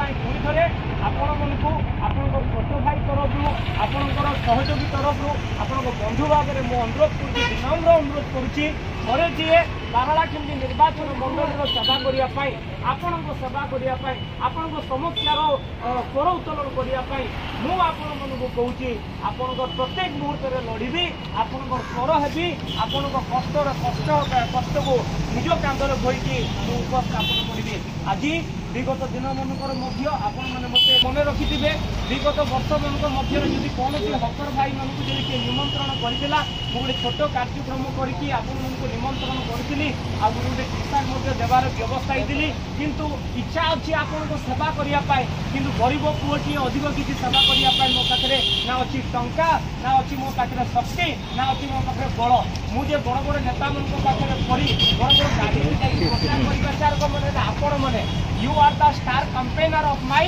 ସେଥିପାଇଁ ପୁଣି ଥରେ ଆପଣମାନଙ୍କୁ ଆପଣଙ୍କ ଛୋଟ ଭାଇ ତରଫରୁ, ଆପଣଙ୍କର ସହଯୋଗୀ ତରଫରୁ, ଆପଣଙ୍କ ବନ୍ଧୁ ଭାବରେ ମୁଁ ଅନୁରୋଧ କରୁଛି, ବିନମ୍ର ଅନୁରୋଧ କରୁଛି, ଥରେ ଯିଏ ପାରଳାଖେମୁଣ୍ଡି ନିର୍ବାଚନ ମଣ୍ଡଳୀର ସେବା କରିବା ପାଇଁ, ଆପଣଙ୍କ ସେବା କରିବା ପାଇଁ, ଆପଣଙ୍କ ସମସ୍ୟାର ସ୍ୱର ଉତ୍ତୋଳନ କରିବା ପାଇଁ ମୁଁ ଆପଣମାନଙ୍କୁ କହୁଛି, ଆପଣଙ୍କ ପ୍ରତ୍ୟେକ ମୁହୂର୍ତ୍ତରେ ଲଢ଼ିବି, ଆପଣଙ୍କ ସ୍ୱର ହେବି, ଆପଣଙ୍କ କଷ୍ଟର କଷ୍ଟ କଷ୍ଟକୁ ନିଜ କାନ୍ଧରେ ବୋହିକି ମୁଁ ଉପସ୍ଥାପନ କରିବି। ଆଜି ବିଗତ ଦିନମାନଙ୍କର ମଧ୍ୟ ଆପଣମାନେ ମୋତେ ମନେ ରଖିଥିବେ। ବିଗତ ବର୍ଷମାନଙ୍କ ମଧ୍ୟରେ ଯଦି କୌଣସି ହକର ଭାଇମାନଙ୍କୁ ଯଦି କିଏ ନିମନ୍ତ୍ରଣ କରିଥିଲା, ମୁଁ ଗୋଟେ ଛୋଟ କାର୍ଯ୍ୟକ୍ରମ କରିକି ଆପଣମାନଙ୍କୁ ନିମନ୍ତ୍ରଣ କରିଥିଲି ଆଉ ଗୋଟେ ଟି ସାର୍ଟ ମଧ୍ୟ ଦେବାର ବ୍ୟବସ୍ଥା ହେଇଥିଲି। କିନ୍ତୁ ଇଚ୍ଛା ଅଛି ଆପଣଙ୍କ ସେବା କରିବା ପାଇଁ, କିନ୍ତୁ ଗରିବ ପୁଅଟିଏ ଅଧିକ କିଛି ସେବା କରିବା ପାଇଁ ମୋ ପାଖରେ ନା ଅଛି ଟଙ୍କା, ନା ଅଛି ମୋ ପାଖରେ ଶକ୍ତି, ନା ଅଛି ମୋ ପାଖରେ ବଳ। ମୁଁ ଯେ ବଡ଼ ବଡ଼ ନେତାମାନଙ୍କ ପାଖରେ ପଡ଼ି ବଡ଼ ବଡ଼ ଗାଡ଼ିରେ ଯାଇକି ପ୍ରଚାର କରିବା, ମାନେ ଆପଣମାନେ, you are the star campaigner of my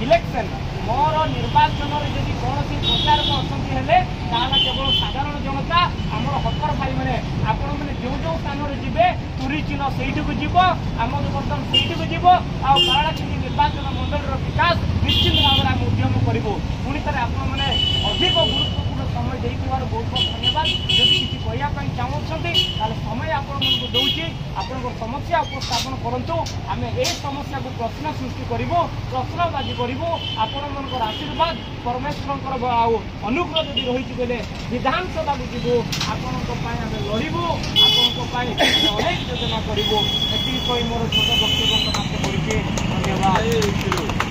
election. ମୋର ନିର୍ବାଚନରେ ଯଦି କୌଣସି ପ୍ରଚାରକ ଅଛନ୍ତି ହେଲେ ତାହେଲେ କେବଳ ସାଧାରଣ ଜନତା, ଆମର ହକର ଭାଇମାନେ। ଆପଣମାନେ ଯେଉଁ ଯେଉଁ ସ୍ଥାନରେ ଯିବେ, ତୁରି ଚିହ୍ନ ସେଇଠିକୁ ଯିବ, ଆମର ବର୍ତ୍ତମାନ ସେଇଠିକୁ ଯିବ ଆଉ ପାରଳାଖେମୁଣ୍ଡି ନିର୍ବାଚନ ମଣ୍ଡଳୀର ବିକାଶ ନିଶ୍ଚିତ ଭାବରେ ଆମେ ଉଦ୍ୟମ କରିବୁ। ପୁଣି ଥରେ ଆପଣମାନେ ଅଧିକ ଗୁରୁତ୍ୱପୂର୍ଣ୍ଣ ସମୟ ଦେଇଥିବାରୁ ବହୁତ ବହୁତ ଧନ୍ୟବାଦ। ଯଦି କିଛି କହିବା ପାଇଁ ଚାହୁଁଛନ୍ତି, ତାହେଲେ ସମୟ ଆପଣମାନଙ୍କୁ ଦେଉଛି। ଆପଣଙ୍କ ସମସ୍ୟା ଉପସ୍ଥାପନ କରନ୍ତୁ। ଆମେ ଏହି ସମସ୍ୟାକୁ ପ୍ରଶ୍ନ ସୃଷ୍ଟି କରିବୁ, ପ୍ରଶ୍ନବାଜି କରିବୁ। ଆପଣମାନଙ୍କର ଆଶୀର୍ବାଦ, ପରମେଶ୍ୱରଙ୍କର ଆଉ ଅନୁଗ୍ରହ ଯଦି ରହିଛି ବୋଇଲେ ବିଧାନସଭାକୁ ଯିବୁ, ଆପଣଙ୍କ ପାଇଁ ଆମେ ଲଢ଼ିବୁ, ଆପଣଙ୍କ ପାଇଁ ଅନେକ ଯୋଜନା କରିବୁ। ଏତିକି କହି ମୋର ଛୋଟ ବକ୍ତବ୍ୟ ସମାପ୍ତ କରୁଛି। ଧନ୍ୟବାଦ।